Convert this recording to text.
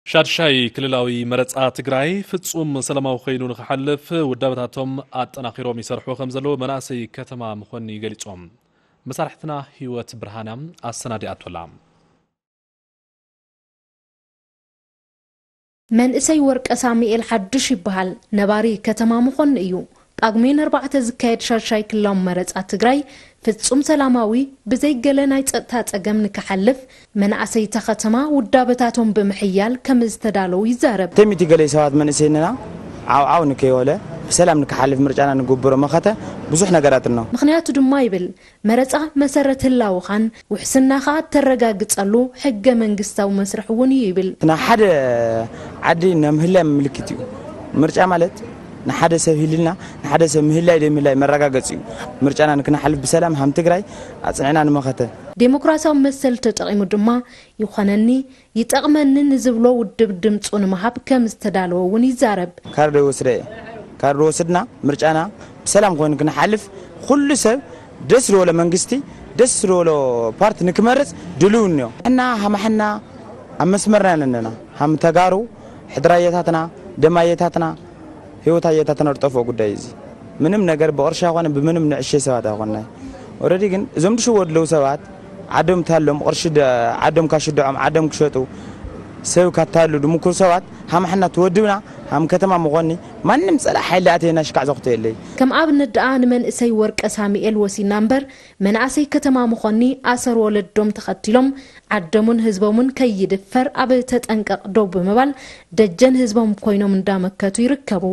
ሻድሻይ ክልላዊ መረፃ ትግራይ ፍፁም ሰላማዊ ኮይኑ ንክሓልፍ ውዳበታቶም ኣጠናኺሮም ይሰርሑ ከም ዘለዉ መናእሰይ ከተማ መኾኒ ገሊፆም። መሳርሕትና ህይወት ብርሃና ኣሰናዲኣቶላ። መንእሰይ ወርቀ ሳሙኤል ሓዱሽ ይበሃል። ነባሪ ከተማ መኾኒ እዩ። ጳጉሜን ኣርባዕተ ዝካየድ ሻድሻይ ክልላዊ መረፃ ትግራይ ፍፁም ሰላማዊ ብዘይ ገለ ናይ ፀጥታ ፀገም ንክሓልፍ መናእሰይ እታ ከተማ ውዳበታቶም ብምሕያል ከም ዝተዳለዉ ይዛረብ። ተሚቲ ገለ ሰባት መንእሰይንና ዓው ዓው ንከይወለ ብሰላም ንክሓልፍ ምርጫና ንግብሮ መኸተ ብዙሕ ነገራት ነው። ምኽንያቱ ድማ ይብል መረፃ መሰረት ህላወኻን ውሕስናኻ እተረጋግፀሉ ሕገ መንግስታዊ መስርሕ እውን እዩ ይብል። ናይ ሓደ ዓዲ ናይ ምህላይ ምልክት እዩ። ምርጫ ማለት ንሓደ ሰብ ህልና ንሓደ ሰብ ምህላይ ደይ ምህላይ መረጋገፂ እዩ። ምርጫና ንክነሓልፍ ብሰላም ሃም ትግራይ ኣፅንዕና ንመኸተ። ዴሞክራሲያዊ መሰል ተጠቒሙ ድማ ይኾነኒ ይጠቕመኒ ንዝብሎ ውድብ ድምፁ ንምሃብ ከም ዝተዳለወ እውን ይዛረብ። ካርድ ይወስደ እየ። ካርድ ወስድና ምርጫና ብሰላም ኮይኑ ክንሓልፍ ኩሉ ሰብ ደስ ዝበሎ መንግስቲ ደስ ዝበሎ ፓርቲ ንክመርፅ ድልው እኒኦ እና ሃማሕና ኣብ መስመርና ኣለና ሃም ተጋሩ ሕድራየታትና ደማየታትና ህይወት ኣየታትና ዝጠፍኦ ጉዳይ እዚ ምንም ነገር ብቕርሺ ኣይኮነ ብምንም ንዕሸ ሰባት ኣይኮናይ ኦረዲ ግን እዞም ድሽወ ድለው ሰባት ዓዶም ታሎም ቅርሺ ዓዶም ካሽድዖም ዓዶም ክሸጡ ሰብ ካታሉ ድምኩር ሰባት ሃምሓና ትወድብና ሃም ከተማ ምኾኒ ማንም ጸላእ ሓይሊ ኣተየና ሽካዕ ዘኽቶ የለይ ከም ኣብነት ደኣ ንመንእሰይ ወርቀ ሳሙኤል ወሲና እምበር መናእሰይ ከተማ ምኾኒ ኣሰር ወለዶም ተኸቲሎም ዓደሙን ህዝቦምን ከይድፈር ኣብ ተጠንቀቕ ደው ብምባል ደጀን ህዝቦም ኮይኖም እንዳመከቱ ይርከቡ።